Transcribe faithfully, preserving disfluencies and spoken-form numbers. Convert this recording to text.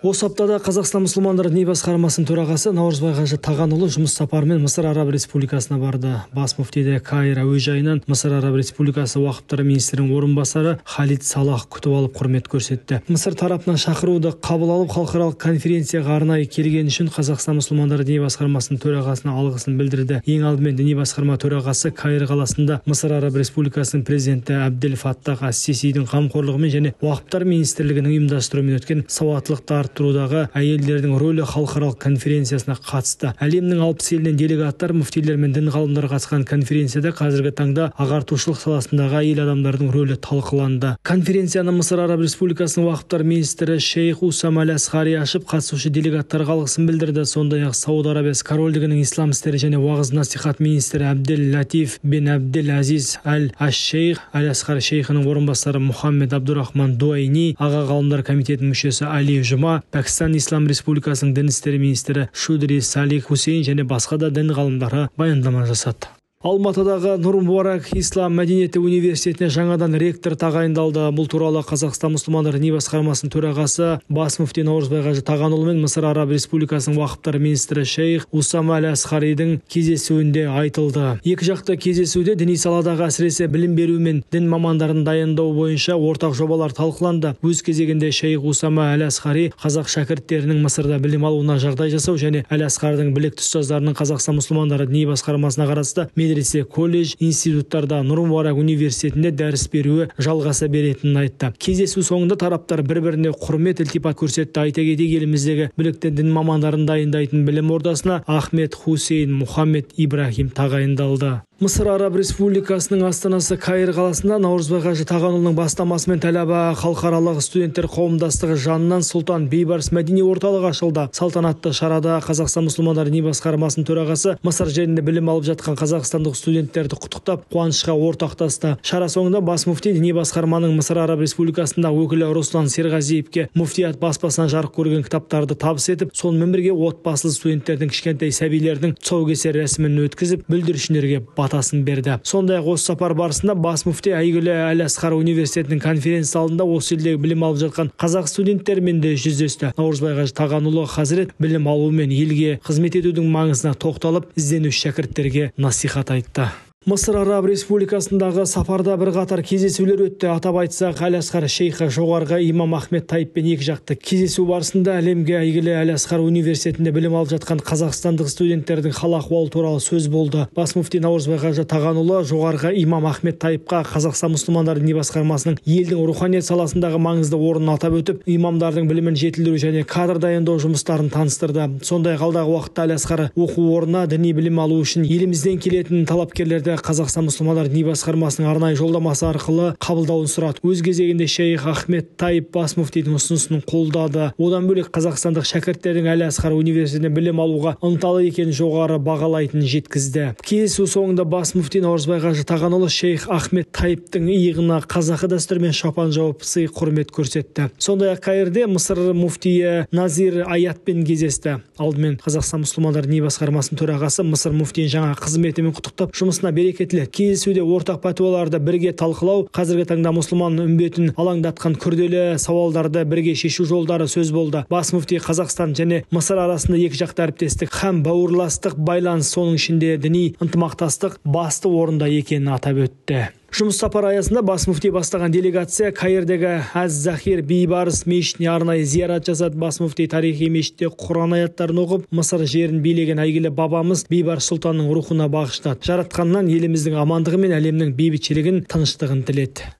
Осы аптада Қазақстан мұсылмандары діни басқармасының төрағасы Наурызбай Қажы Тағанұлы жұмыс сапарымен Мысыр Араб Республикасына барды. Бас муфтиді Каир әуежайынан Мысыр Араб Республикасы уақыптары министрінің орынбасары Халид Салах күтіп алып құрмет көрсетті. Мысыр тарапынан шақыруды қабыл алып халықаралық конференцияға арнайы келген үшін Қазақстан мұсылмандары діни басқармасының төрағасына алғысын білдірді. Ең алдымен діни басқарма төрағасы Каир қаласында Мысыр Араб Республикасының президенті Абдель Фаттах ас-Сисидің қамқорлығымен және уақыптар министрлігінің ұйымдастыруымен өткен сауаттылықты арттырудағы әйелдердің рөлі халықаралық конференциясына қатысты. Әлемнің алпыс елінен делегаттар, муфтилер мен дін ғалымдары қатысқан конференцияда қазіргі таңда ағартушылық саласындағы әйел адамдардың рөлі талқыланды. Конференцияны Мысыр Араб Республикасының уақыптар министрі Шейх Усам Аль-Асқари ашып, қатысушы делегаттарға алғысын білдірді. Сондай-ақ Сауд Арабиясы Корольдігінің ислам істері және уағыз насихат министрі Абдель Латиф бен Абдель Азиз Аль-Аш-Шейх Аль-Асқари шейхінің орынбасары Мухаммед Абдурахман Дуайни, аға ғалымдар комитетінің мүшесі Али Жұма, Пәкістан Ислам Республикасының дін істері министрі Шудри Салих Хусейн және басқа да дін ғалымдары баяндама жасады. Алматыдағы Нұр Мубарак Ислам мәдениеті университетіне жаңадан ректор тағайындалды. Бұл туралы Қазақстан мұсылмандары діни басқармасының төрағасы бас муфти Наурызбай Қажы Тағанұлы мен Мысыр Араб Республикасының уақыптар министрі Шейх Усам Аль-Асқаридің кездесуінде айтылды. Екі жақты кездесуде діни саладағы әсіресе білім беру мен дін мамандарын дайындау бойынша ортақ жобалар талқыланды. Өз кезегінде Шейх Усам Аль-Асқари қазақ шәкірттерінің Мысырда білім алуына жағдай жасау және Аль-Асқардың білекті ұстаздарының Қазақстан мұсылмандары діни басқармасына қарасты медресе, колледж, институттарда Нұр Мубарак университетінде дәріс беруі жалғаса беретінін айтты. Кездесу соңында тараптар бір-біріне құрмет ілтипат көрсетті. Айта кетейік, еліміздегі білікті дін мамандарын дайындайтын білім ордасына Ахмед Хусейн Мухаммед Ибрахим тағайындалды. Мысыр Араб Республикасының астанасы Каир қаласында Наурызбай Қажы Тағанұлының бастамасымен Тәләба халықаралық студенттер қауымдастығы жанынан Сұлтан Бейбарыс мәдени орталығы ашылды. Салтанатты шарада Қазақстан мұсылмандары діни басқармасының төрағасы Мысыр жерінде білім алып жатқан қазақстандық студенттерді құттықтап, қуанышқа ортақтасты. Шара соңында бас муфти діни басқарманың Мысыр Араб Республикасында өкілі Руслан Серғазиевке муфтият баспасынан жарық көрген кітаптарды табыс етіп, сонымен бірге отбасылы студенттердің, кішкентай сәбилердің тұсаукесер рәсімін өткізіп, бүлдіршіндерге батасын берді. Сондай-ақ осы сапар барысында бас муфти әйгілі Аль-Асқар университетінің конференция залында осы елдегі білім алып жатқан қазақ студенттермен де жүздесті. Наурызбай Қажы Тағанұлы Хазірет білім алу мен елге қызмет етудің маңызына тоқталып, ізденуші шәкірттерге насихат айтты. Мысыр Араб Республикасындағы сапарда бір қатар кездесулер өтті. Атап айтсақ, Аль-Асқар шейхі жоғарғы имам Ахмед Тайиппен екі жақты кездесу барысында әлемге әйгілі Аль-Асқар университетінде білім алып жатқан қазақстандық студенттердің хал ахуалы туралы сөз болды. Бас муфти Наурызбай Қажы Тағанұлы жоғарғы имам Ахмед Тайипқа Қазақстан мұсылмандары діни басқармасының елдің руханият саласындағы маңызды орнын атап өтіп, имамдардың білімін жетілдіру және кадр дайындау жұмыстарын таныстырды. Сондай-ақ алдағы уақытта Аль-Асқар оқу орнына діни білім алу үшін елімізден келетін талапкерлерді Қазақстан мұсылмандары діни басқармасының арнайы жолдамасы арқылы қабылдауын сұрады. Өз кезегінде Шейх Ахмед Тайип бас муфтидің ұсынысын қолдады. Одан бөлек қазақстандық шәкірттердің Аль-Асқар университетінде білім алуға ынталы екенін жоғары бағалайтынын жеткізді. Кездесу соңында бас муфти Наурызбай Қажы Тағанұлы Шейх Ахмед Тайиптің иығына қазақы дәстүрмен шапан жауып сый құрмет көрсетті. Сондай-ақ Каирде Мысыр муфтиі Назир Аятпен кездесті. Алдымен Қазақстан мұсылмандары діни басқармасының төрағасы Мысыр муфтиін жаңа қызметімен құттықтап, жұмысына берекетлі. Кездесуде ортақ пәтуаларды бірге талқылау, қазіргі таңда мұсылман үмбетін алаңдатқан күрделі сауалдарды бірге шешу жолдары сөз болды. Бас муфти Қазақстан және Мысыр арасында екі жақты әріптестік һәм бауырластық байланыс, соның ішінде діни ынтымақтастық басты орында екенін атап өтті. Жұмыс сапар аясында бас муфти бастаған делегация Каирдегі Аз-Захир Бейбарыс мешітіне арнайы зиярат жасады. Бас муфти тарихи мешітте Құран аяттарын оқып, Мысыр жерін билеген әйгілі бабамыз Бейбарыс сұлтанның рухына бағыштады. Жаратқаннан еліміздің амандығы мен әлемнің бейбітшілігін, тыныштығын тіледі.